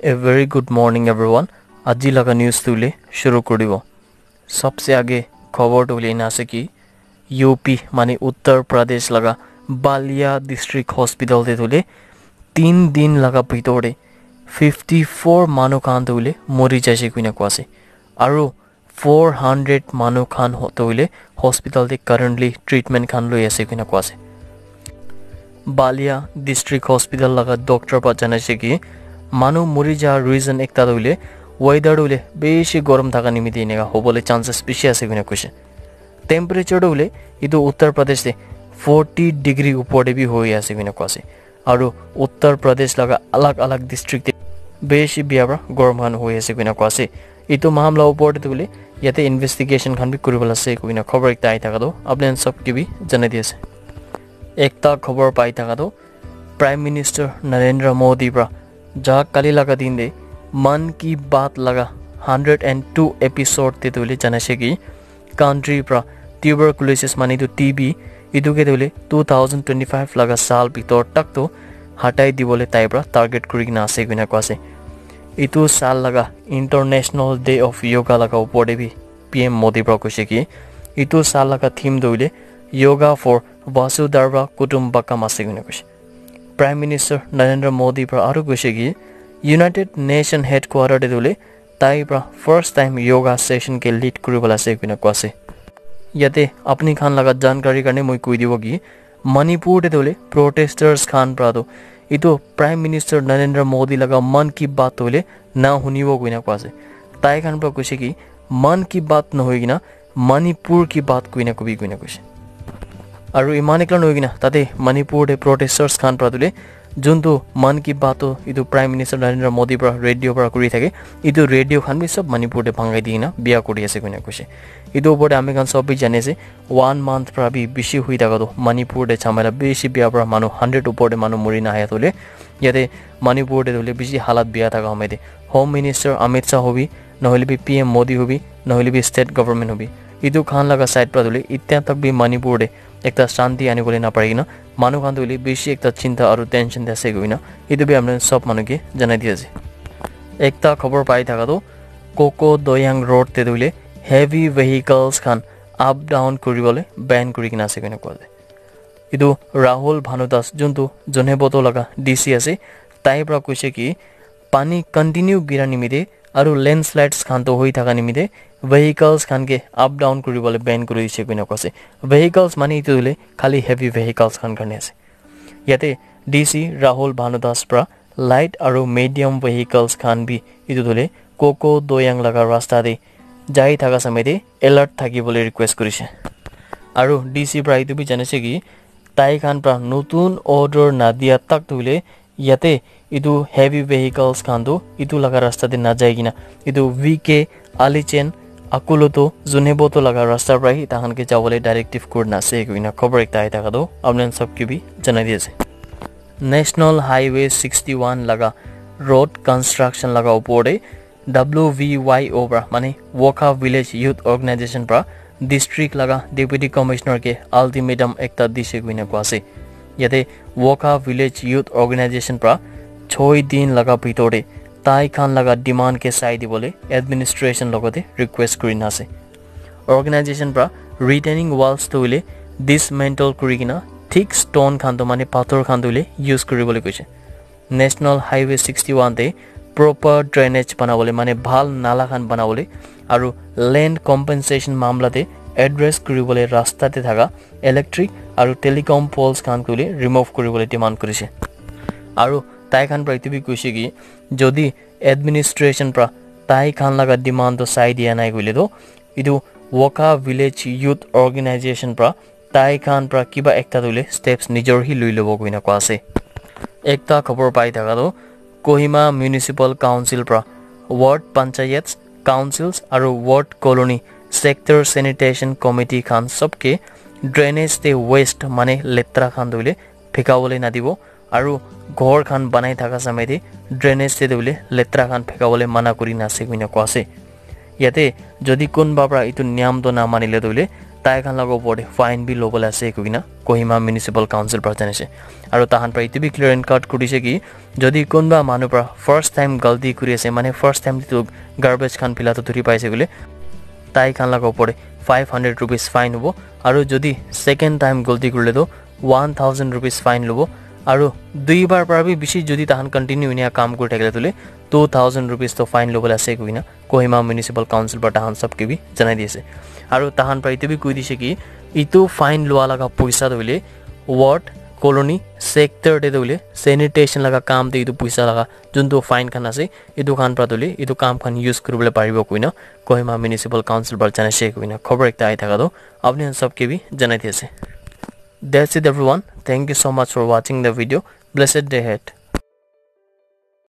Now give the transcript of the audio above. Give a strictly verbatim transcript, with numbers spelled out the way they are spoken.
A very good morning, everyone. Aji laga news tu le shuru kuri dibo. Sabse aage khobor tu le ena ase ki U P mane Uttar Pradesh laga Balia District Hospital te tu le tin din laga bhitor te fifty four manu khan tu le mori jaise koina koa ase. Aru four hundred manu khan ho-, toile hospital te currently treatment khan loi ase koina koa ase. Balia District Hospital laga doctor pa janaise ki manu mori ja reason ekta toile weather toile beshi gorom thaka nimite eneka hobole chances bishi ase koina koise. Temperature toile etu Uttar Pradesh te forty degree upor te bi hoi ase koina koa ase. Aru Uttar Pradesh laga alag alag district te beshi bia para gorom khan hoi ase koina koa ase. Etu mamla upor te tu hoile yate investigation khan bi kuribole ase koina khobor ekta ahi thaka tu apni khan sob ke bi janai di ase. Ekta khobor pai thaka tu Prime Minister Narendra Modi para ja kali laga din te Mann Ki Baat laga hundred and two episode te tu hoile janaise ki country pra tuberculosis mane etu T B etu ke tu hoile two thousand twenty five laga saal bhitor tak tu hatai dibole tai pra target kuri kena ase koina koa ase. Etu saal laga International Day of Yoga laga upor te bi P M Modi pra koise ki etu saal laga theme tu hoile Yoga for Vasudhaiva Kutumbakam ase koina koise. Prime Minister Narendra Modi pra aru koise ki United Nation Headquarter te tu hoile tai pra first time yoga session ke lead kuri bole ase koina koa ase. Yate apni khan laga jankari karne moi koi dibo ki Manipur te tu hoile protesters khan pra tu etu Prime Minister Narendra Modi laga Mann Ki Baat tu hoile na hunibo koina koa ase. Tai khan pra koise ki Mann Ki Baat nohoi kena Manipur Ki Baat koina kobi koina koise. Aru iman ekla nohoi kena tate Manipur te protesters khan pra tu hoile juntu Mann Ki Baat tu etu Prime Minister Narendra Modi pra radio pra kuri thake etu radio khan bi sob Manipur te bhangai di kena bia kuri ase koina koise. Etu upor te ami khan sob bi jani ase one month pra bi bishi hui thaka tu Manipur te jhamela bishi bia pra manu hundred upor te manu mori na ahi ase tu hoile yate Manipur te tu hoile bishi halat bia thaka home te Home Minister Amit Shah hobi nohole bi P M Modi hobi nohole bi state government hobi etu khan laga side pra tu hoile itya tak bi Manipur te ekta shanti ani bole na pari kena manu khan tu hoile bishi ekta chinta aru tension te ase koina etu bi ami sob manu ke janai di ase. Ekta khobor pai thaka tu Koko Doyang Road te tu hoile heavy vehicles khan up down kuri bole ban kuri kena ase koina koa ase. Etu Rahul Bhanu Das juntu Zunheboto laga D C ase tai pra koise ki pani continue gira nimite aru landslides khan to hoi thaka nimite vehicles khan ke up down kuri bole ban kuri dise koina koa ase. Vehicles mane etu hoile khali heavy vehicles khan karne ase. Yate D C Rahul Bhanu Das pra light aru medium vehicles khan bi etu tu hoile Koko Doyang laga rasta te jai thaka samay te alert thaki bole request kurise. Aru D C pra etu bi janise ki tai khan pra notun order na dia tak tu hoile yate etu heavy vehicles khan tu etu laga rasta te na jai kena etu V K Alichen Akuluto Zunheboto laga rasta pra hi tai khan ke jabole directive kurina ase koina khobor ekta ahi thaka tu apni khan sob ke bi janai di ase. National Highway sixty one laga road construction laga upor te W V Y O pra mane Wokha Village Youth Organization pra district laga deputy commissioner ke ultimatum ekta dise koina koa ase. Yate Wokha Village Youth Organization pra choi din laga bhitor te tai khan laga demand ke sai dibole administration logote request kurina ase. Organization pra retaining walls tu hoile dismantle kuri kena thick stone khan tu mane pathor khan tu hoile use kuri bole koise. National Highway sixty one te proper drainage banabole mane bhal nala khan banabole aru land compensation mamla te address kuri bole rasta te thaka electric aru telecom poles khan tu hoile remove kuri bole demand kurise. Aru tai khan pra etu bi koise ki jodi administration pra tai khan laga demand tu sai dia nai koile tu etu Wokha Village Youth Organization pra tai khan pra kiba ekta tu hoile steps nijor hi lui lobo koina koa ase. Ekta khobor pai thaka tu Kohima Municipal Council pra ward panchayats, councils aru ward colony sector sanitation committee khan sob ke drainage te waste mane letra khan tu hoile phekabole nadibo aru ghor khan banai thaka samay te drainage te tu hoile letra khan phekabole mana kuri na ase koina koa ase. Yate jodi kunba pra etu niyam to na manile tu hoile Tai khan laga opor te fine bi lobole ase koikena Kohima Municipal Council para janise. Aru tahan para etu bi clear and cut kuri dise ki jodi kunba manu para first time galti kuri ase, mane first time tu garbage khan phila tu dhuri paise koile, tai khan laga opor te five hundred rupees fine hobo. Aru jodi second time galti kurile tu one thousand rupees fine lobo. Aru dui bar para bi bishi jodi tahan continue enia kam kuri thakile tule two thousand rupees to fine lobole ase koikena Kohima Municipal Council para tahan sabke bi janai di ase. Aru tahan para etu bi koi dise ki etu fine lua laga poisa tu hoile ward, colony, sector te tu hoile sanitation laga kam te etu poisa laga juntu fine khan ase, etu khan para tu hoile etu kam khan use kuribole paribo koikena Kohima Municipal Council para janaise koikena khobor ekta ahi thaka tu apni khan sabke bi janai di ase. That's it everyone. Thank you so much for watching the video. Blessed day ahead.